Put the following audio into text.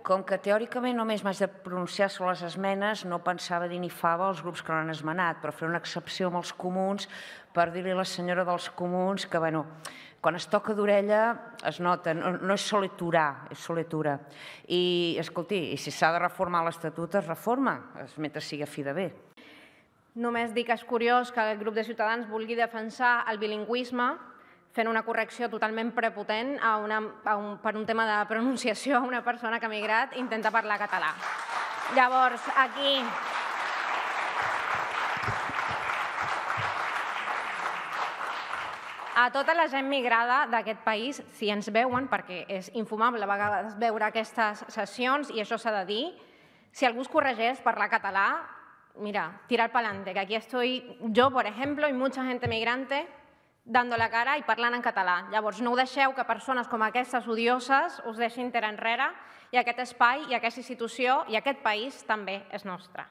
Com que teòricament només m'haig de pronunciar sobre les esmenes, no pensava dir ni fava als grups que no han esmenat, però fer una excepció amb els comuns per dir-li a la senyora dels comuns que, bueno, quan es toca d'orella es nota, no és soletura, és soletura. I, escolti, si s'ha de reformar l'Estatut, es reforma, mentre sigui a fi de bé. Només dic que és curiós que el grup de Ciutadans vulgui defensar el bilingüisme fent una correcció totalment prepotent per un tema de pronunciació a una persona que ha migrat i intenta parlar català. Llavors, aquí... A tota la gent migrada d'aquest país, si ens veuen, perquè és infumable a vegades veure aquestes sessions, i això s'ha de dir, si algú es corregeix parlar català, mira, tirar pa'lante, que aquí estoy yo, por ejemplo, y mucha gente migrante dando la cara i parlant en català. Llavors, no ho deixeu que persones com aquestes odioses us deixin tirar enrere, i aquest espai, i aquesta institució, i aquest país també és nostre.